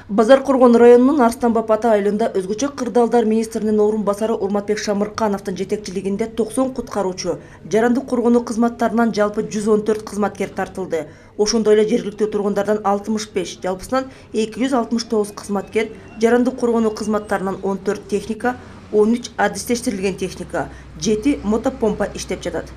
Базар Коргон районунун Арстанбап ата айылында өзгөчө кырдаалдар министринин орун басары Урматбек Шамыркановдун жетекчилигинде 90 куткаруучу, жарандык коргонуу кызматтарынан жалпы 114 кызматкер тартылды. Ошондой эле жергиликтүү тургундардан 65, жалпысынан 269 кызматкер, жарандык коргонуу кызматтарынан 14 техника, 13 адистештирилген техника, 7 мотопомпа иштеп жатат.